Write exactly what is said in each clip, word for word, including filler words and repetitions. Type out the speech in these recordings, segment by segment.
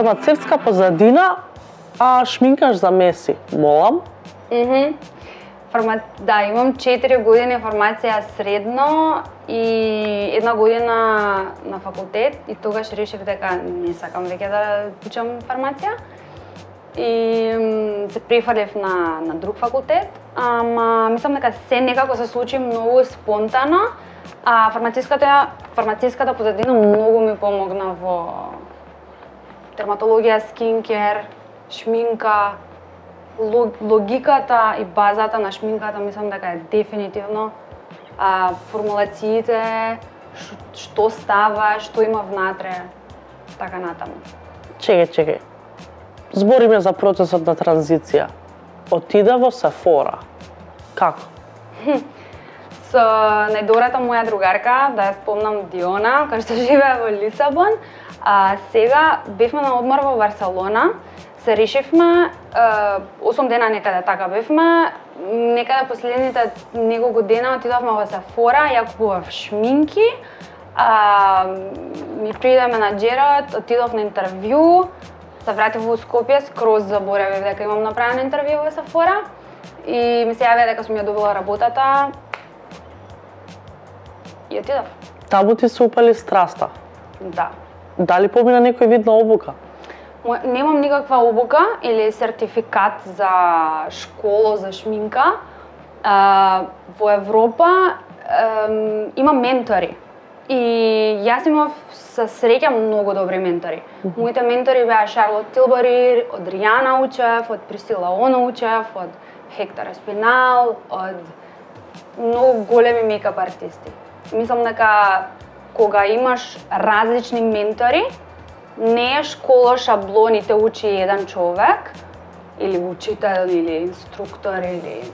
фармацевтска позадина, а шминкаш за меси. Молам? Мхм. Фарма... Да, имам четири години фармација средно и една година на факултет и тогаш решив дека не сакам веќе да учам фармација. И се префрлив на на друг факултет, ама мислам дека се некако се случи многу спонтано, а фармациската фармациската позадина многу ми помогна во дерматологија, скинкер, шминка, логиката и базата на шминката мислам дека е дефинитивно, а формулациите, што става, што има внатре, така натаму. Чекај, чекај. Збориме за процесот на транзиција. Отида во Сефора. Како? Со најдобрата моја другарка, да ја спомнам Диона, која што живее во Лисабон, а сега бевме на одмор во Барселона. Се решивме, осум дена некаде така бевме, некаде последните неколку дена отидовме во Сефора, ја купував шминки, а, ми пријде менаџерот, отидов на интервју, се вратив во Скопје, скроз заборавив дека имам направено интервју во Сефора и ми се јавија дека сум ја добила работата и отидов. Таму ти се упали страста. Да. Дали помина некој вид на обука? Немам никаква обука или сертификат за школа за шминка. А, во Европа ем, има ментори. И јас имав со среќа многу добри ментори. Mm -hmm. Моите ментори беа Шарлот Тилбери, од Ријана учев, од Присила Она учев, од Хектор Еспинал, од многу големи мейкап артисти. Мислам дека кога имаш различни ментори, не е школа шаблон и те учи еден човек, или учител, или инструктор, или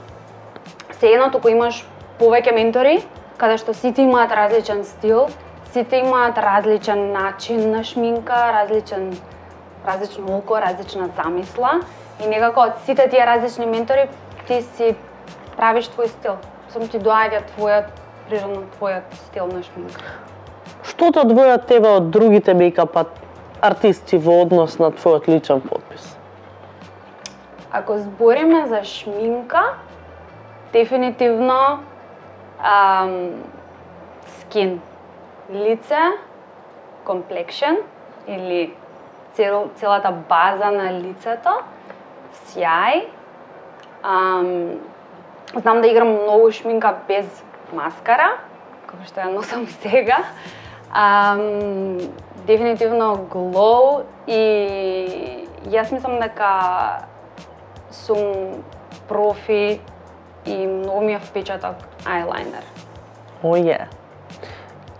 сеедно туку имаш повеќе ментори, каде што сите имаат различен стил, сите имаат различен начин на шминка, различен, различно око, различна замисла и некако од сите тие различни ментори ти си правиш твој стил. Само ти доаѓа твојот, природно твојот стил на шминка. Што те одвоја тебе од другите мейкап артисти во однос на твојот личен потпис? Ако збориме за шминка, дефинитивно ам, скин, лице, комплекшн или цел, целата база на лицето, сјај. Ам, знам да играм многу шминка без маскара, како што ја носам сега. Ам, дефинитивно глоу и јас мислам дека сум профи и многу ми е впечаток ајлайнер. О, е.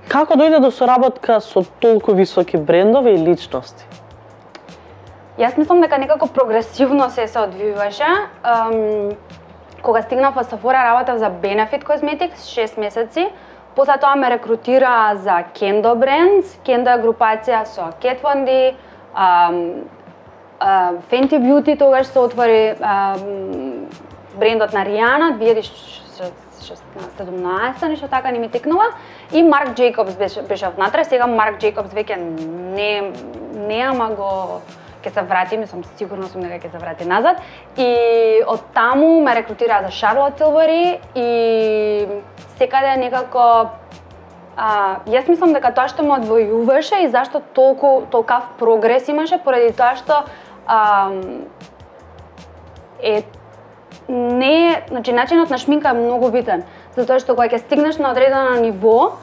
Како дојде до соработка со толку високи брендови и личности? Јас мислам дека некако прогресивно се се одвиваше. Um, кога стигнав во Сефора, работев за Benefit Cosmetics шест месеци. После тоа ме рекрутира за Kendo Brands. Kendo е групација со Kat Von D, um, uh, Fenty Beauty тогаш се отвори um, брендот на Ријана две илјади седумнаесета, нешто така не ми текнува. И Marc Jacobs беше, беше внатре, сега Marc Jacobs веќе не, не ама го ќе се врати, мислам, сигурно сум дека ќе се врати назад. И од таму ме рекрутираа за Charlotte Tilbury и секаде некако а, јас мислам дека тоа што ме одвојуваше и зашто толку толкав прогрес имаше поради тоа што а, е не, значи начинот на шминка е многу битен, затоа што кога ќе стигнеш на одредено ниво,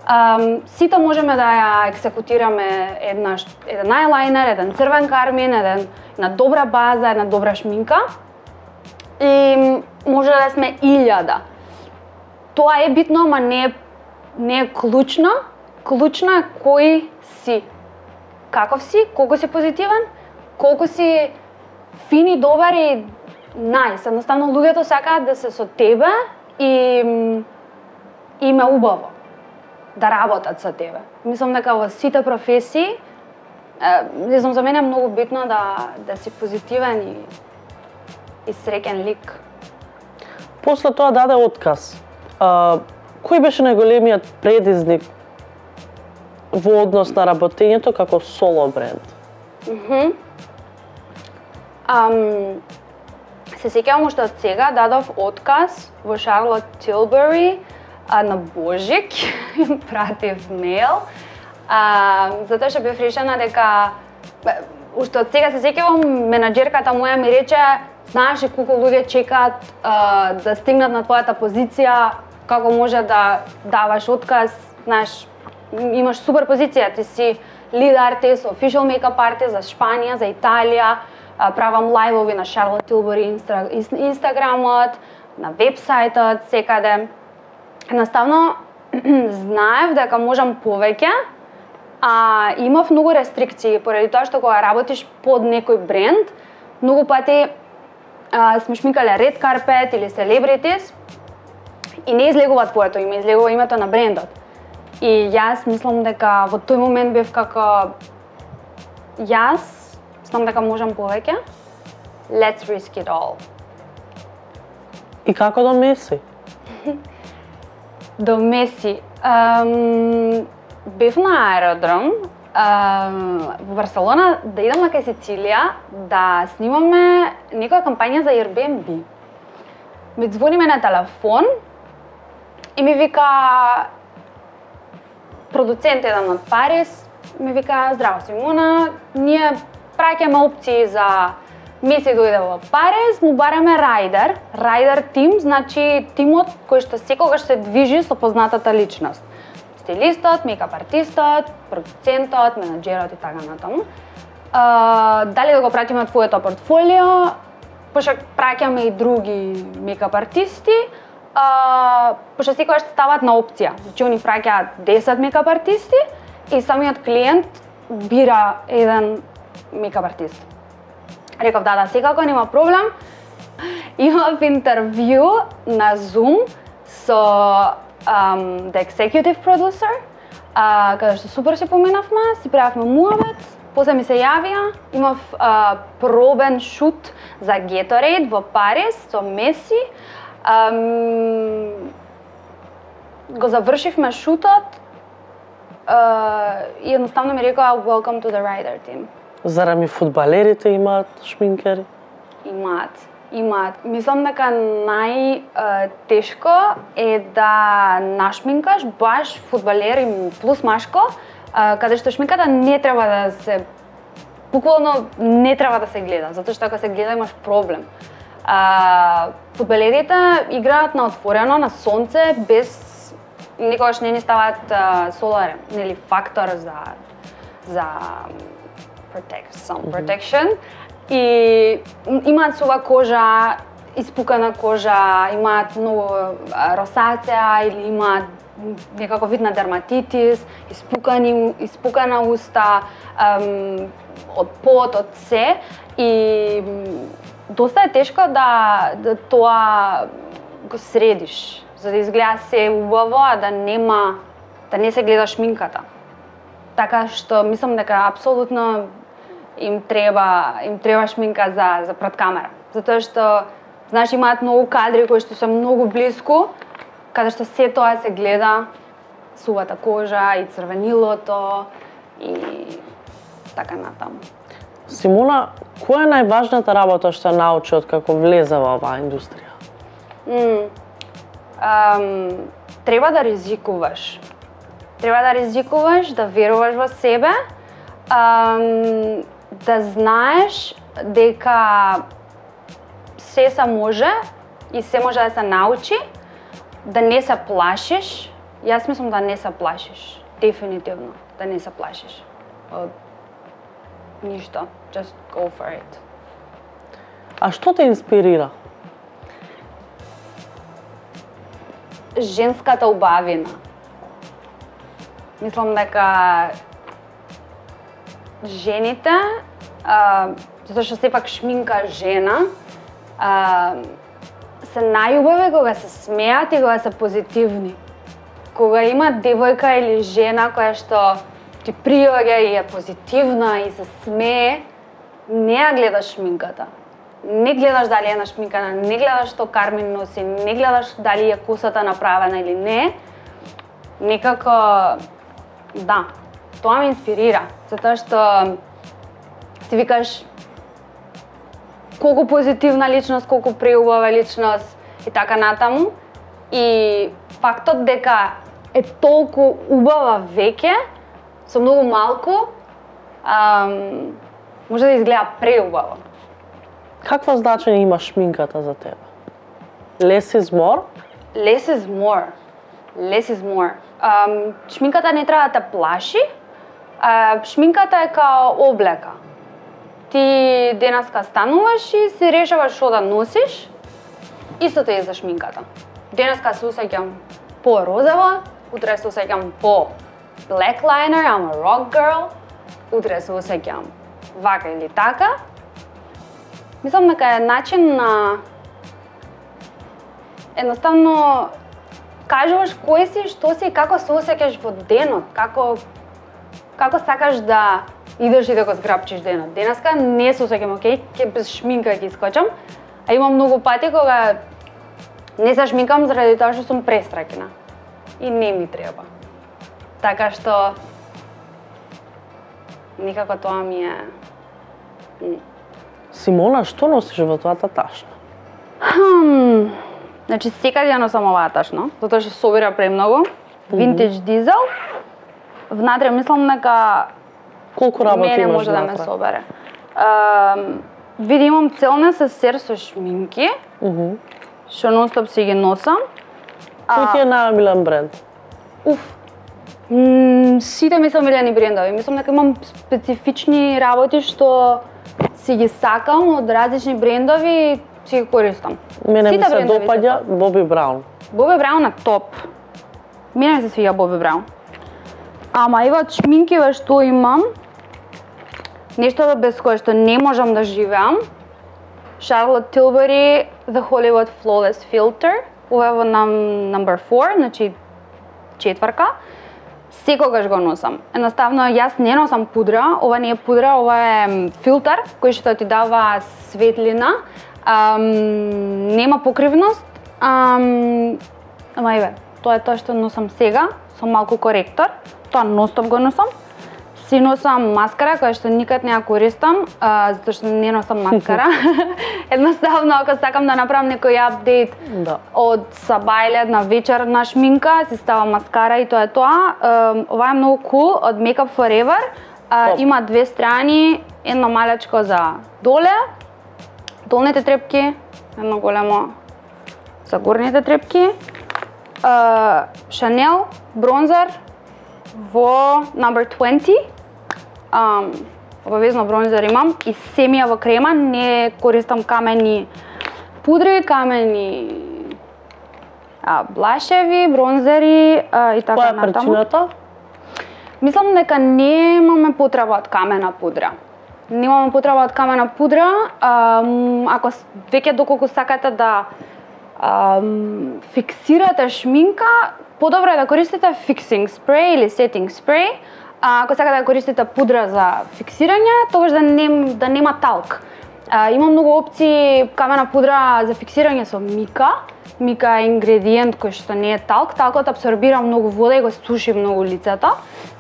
Um, сите можеме да ја екзекутираме една, еден ајлайнер, еден црвен кармин, еден, една добра база, една добра шминка и може да сме илјада. Тоа е битно, ама не е, не е клучно. Клучно е кој си, каков си, колку си позитивен, колку си фин и добар и најс. Едноставно луѓето сакаат да се со тебе и им е убаво да работат со тебе. Мислам дека во сите професии, не знам, за мене е многу битно да да си позитивен и и среќен лик. После тоа даде отказ. А, кој беше најголемиот предизвик во однос на работењето како соло бренд? Мхм. Ам, се сеќавам уште од сега, дадов отказ во Шарлот Тилбери а, на Божик, им пратив мејл, а, затоа што бев решена дека, уште од сега се сеќавам, менаџерката моја ми рече, знаеш ли колку луѓе чекаат а, да стигнат на твојата позиција, како може да даваш отказ, знаеш, имаш супер позиција, ти си lead artist, official makeup artist за Шпанија, за Италија, правам лајвови на Шарлот Тилбери инстаграмот, на вебсајтот, секаде. Едноставно, знаев дека можам повеќе, а имав многу рестрикции, поради тоа што кога работиш под некој бренд, многу пати а, сме шминкале Red Carpet или Celebrities и не излегува твоето име, излегува името на брендот. И јас мислам дека во тој момент бев како јас мислам дека можам повеќе. Let's risk it all. И како до Меси? До Меси. Um, бев на аеродром um, во Барселона да идам на кај Сицилија да снимаме некоја кампања за Airbnb. Ми звониме на телефон и ми вика продуцент еден од Париз, ми вика, здраво Симона, ние праќаме опции за Меси дојде во Париз, му бараме райдер. Райдер тим, значи тимот кој што секогаш се движи со познатата личност. Стилистот, мейкап артистот, продуцентот, менаџерот и така натаму. А, дали да го пратиме твоето портфолио, пошто праќаме и други мейкап артисти, а, пошто секогаш стават на опција. Значи они праќаат десет мейкап артисти и самиот клиент бира еден мейкап артист. Реков да, да, секако нема проблем. Имав интервју на Zoom со um, the executive producer, uh, каде што супер се поминавме, си правевме муабет, после ми се јавија, имав uh, пробен шут за Gatorade во Париз со Меси. Um, го завршивме шутот uh, и едноставно ми рекоа welcome to the writer team. Зарами фудбалерите имаат шминкери? Имаат, имаат. Мислам дека најтешко е да нашминкаш баш фудбалер и плюс машко, каде што шминката не треба да се, буквално не треба да се гледа, затоа што ако се гледа имаш проблем. А, фудбалерите играат на отворено, на сонце, без никогаш не ни ставаат соларен, нели фактор за за protect, some protection. И имаат сува кожа, испукана кожа, имаат многу росацеа или имаат некако вид на дерматитис, испукани, испукана уста, ем, од пот, од се. И доста е тешко да, да тоа го средиш, за да изгледа се убаво, а да нема, да не се гледа шминката. Така што мислам дека апсолутно им треба им треба шминка за за пред камера. Затоа што знаеш имаат многу кадри кои што се многу блиску, каде што се тоа се гледа, сувата кожа и црвенилото и така натаму. Симона, која е најважната работа што научи од како влезе во оваа индустрија? Mm. Um, треба да ризикуваш. Треба да ризикуваш, да веруваш во себе, um, да знаеш дека се се може и се може да се научи, да не се плашиш. Јас мислам да не се плашиш, дефинитивно, да не се плашиш. Од ништо, just go for it. А што те инспирира? Женската убавина. Мислам дека жените, а, затоа што сепак шминка жена, а, се најубави кога се смеат и кога се позитивни. Кога има девојка или жена која што ти приоѓа и е позитивна и се смее, не ја гледаш шминката. Не гледаш дали е нашминкана, не гледаш што Кармин носи, не гледаш дали е косата направена или не. Некако, да, тоа ме инспирира, затоа што Ти викаш колку позитивна личност, колку преубава личност и така натаму. И фактот дека е толку убава веќе, со многу малку, ам, може да изгледа преубаво. Какво значење има шминката за тебе? Less is more? Less is more. Less is more. Um, шминката не треба да те плаши. Uh, шминката е као облека. Ти денеска стануваш и си решаваш што да носиш. Истото е за шминката. Денеска се усеќам по розово, утре се усеќам по black liner, I'm a rock girl. Утре се усеќам вака или така. Мислам дека е начин на едноставно кажуваш кој си, што си и како се осеќаш во денот, како како сакаш да идеш и да го зграпчиш денот. Денеска не се осеќам окей, ќе без шминка ќе искочам, а имам многу пати кога не се шминкам заради тоа што сум престракена и не ми треба. Така што никако тоа ми е. Симона, што носиш во твојата ташна? Хм, значи секаде ја носам оваа ташна, затоа што собира премногу. Винтедж дизел. Внатре мислам дека колку работи мене имаш може да ме внатре? собере. Uh, види имам целна со сер со шминки, Мгм. што нон-стоп си ги носам. Кој ти е најомилен бренд? Уф. М, сите ми се омилени брендови. Мислам дека имам специфични работи што си ги сакам од различни брендови и си ги користам. Мене ми Сите се брендови се допаѓа топ. Боби Браун. Боби Браун е топ. Мене се свиѓа Боби Браун. Ама ева од шминкиве што имам, нешто без кое што не можам да живеам. Charlotte Tilbury The Hollywood Flawless Filter. Ова е во нам number four, значи четврка. Секогаш го носам. Едноставно јас не носам пудра, ова не е пудра, ова е филтер кој што ти дава светлина. Ам, нема покривност. Ам, ама еве, тоа е тоа што носам сега со малку коректор. Тоа ностоп го носам. Си носам маскара која што никад не ја користам, а, затоа што не носам маскара. Едноставно ако сакам да направам некој апдейт Да. од сабајлет на вечерна шминка, си ставам маскара и тоа е тоа. Ем, ова е многу cool од Makeup Forever. А, Топ. има две страни, едно малечко за доле, долните трепки, едно големо за горните трепки. А, Chanel бронзер во number twenty. Um, обавезно бронзер имам и семија во крема, не користам камени пудри, камени а, блашеви, бронзери а, и така Која е натаму. причината? Мислам дека немаме потреба од камена пудра. Немаме потреба од камена пудра, ам, ако с- веќе доколку сакате да ам, фиксирате шминка, подобро е да користите фиксинг спреј или сетинг спреј. А, ако сакате да користите пудра за фиксирање, тогаш да, нем, да нема талк. А, има многу опции камена пудра за фиксирање со мика. Мика е ингредиент кој што не е талк. Талкот абсорбира многу вода и го суши многу лицето.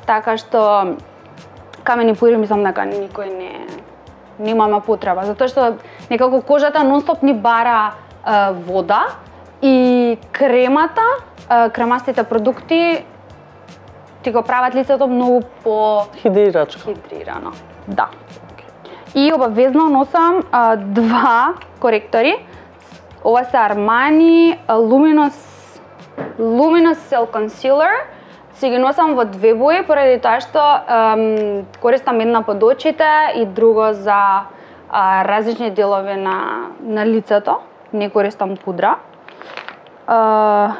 Така што камени пудри мислам дека никој не немаме потреба, затоа што некако кожата нонстоп ни бара а, вода и кремата, а, кремастите продукти ти го прават лицето многу по Хидрирачка. хидрирано. Да. И обавезно носам а, два коректори. Ова се Armani Luminous Luminous Cell Concealer. Си ги носам во две бои поради тоа што ем, користам една под очите и друго за а, различни делови на на лицето. Не користам пудра. А,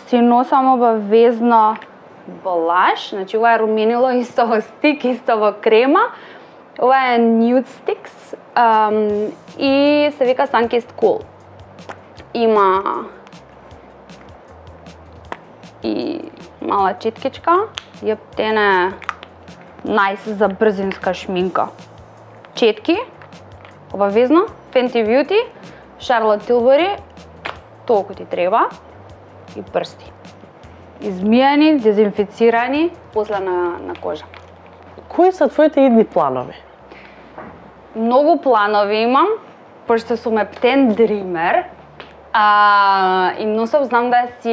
си носам обавезно блаш, значи ова е руменило исто во стик, исто во крема. Ова е Nude Sticks ам, и се вика Sunkissed Cool. Има и мала читкичка, јептене најс за брзинска шминка. Четки, обавезно, Fenty Beauty, Charlotte Tilbury, толку ти треба, и прсти. Измијани, дезинфицирани, после на, на кожа. Кои се твоите идни планови? многу планови имам, пошто сум ептен дример. А, и носам знам да си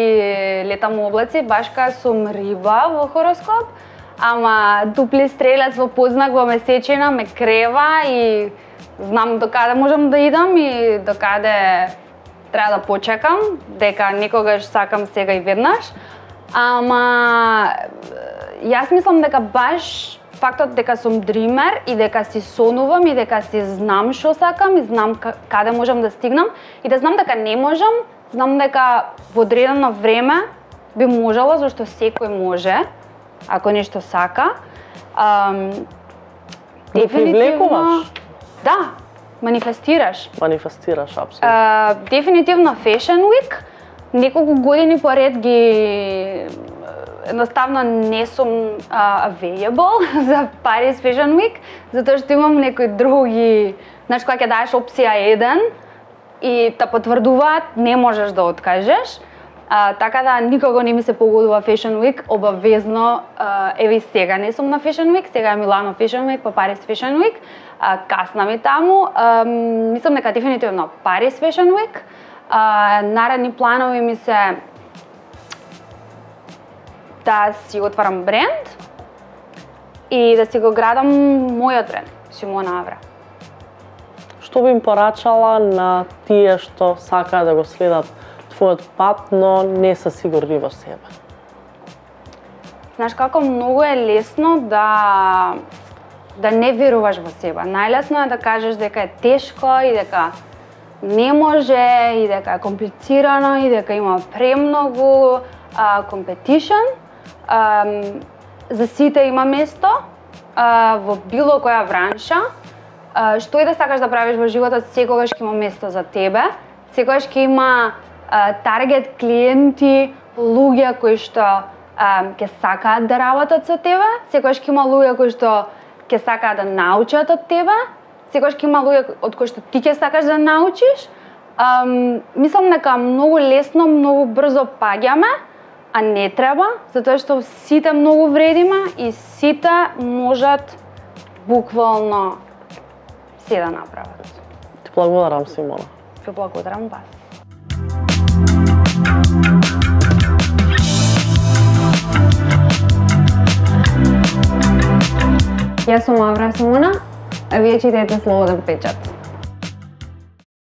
летам у облаци, баш кај сум риба во хороскоп, ама дупли стрелец во познак во месечина ме крева и знам до каде можам да идам и до каде треба да почекам, дека некогаш сакам сега и веднаш. Ама јас мислам дека баш фактот дека сум дример и дека си сонувам и дека си знам што сакам и знам каде можам да стигнам и да знам дека не можам, знам дека во одредено време би можела, зашто секој може, ако нешто сака. Ам, Го привлекуваш? Да, манифестираш. Манифестираш, апсолутно. Uh, дефинитивно Fashion Week. Неколку години поред ги едноставно не сум uh, available за Paris Fashion Week, затоа што имам некои други, знаеш, кога ќе даеш опција еден и те потврдуваат, не можеш да откажеш. Uh, така да никого не ми се погодува Fashion Week, обавезно, uh, еви сега не сум на Fashion Week, сега е Милано Fashion Week, па Paris Fashion Week, uh, касна ми таму, uh, мислам дека дефинитивно Paris Fashion Week. Uh, наредни планови ми се да си отварам бренд и да си го градам мојот бренд, Симона Авра. Што би им порачала на тие што сакаат да го следат твојот пат, но не се сигурни во себе? Знаеш како многу е лесно да да не веруваш во себе. Најлесно е да кажеш дека е тешко и дека не може и дека е комплицирано и дека има премногу competition. Um, за сите има место uh, во било која бранша. Uh, што и да сакаш да правиш во животот, секогаш ќе има место за тебе. Секогаш ќе има uh, таргет клиенти, луѓе кои што uh, ќе сакаат да работат со тебе. Секогаш ќе има луѓе кои што ќе сакаат да научат од тебе. Секогаш ќе има луѓе од кои што ти ќе сакаш да научиш. Um, мислам дека многу лесно, многу брзо паѓаме, а не треба, затоа што сите многу вредиме и сите можат буквално се да направат. Ти благодарам, Симона. Ти благодарам вас. Јас сум Авра Симона, а вие читајте Слободен печат.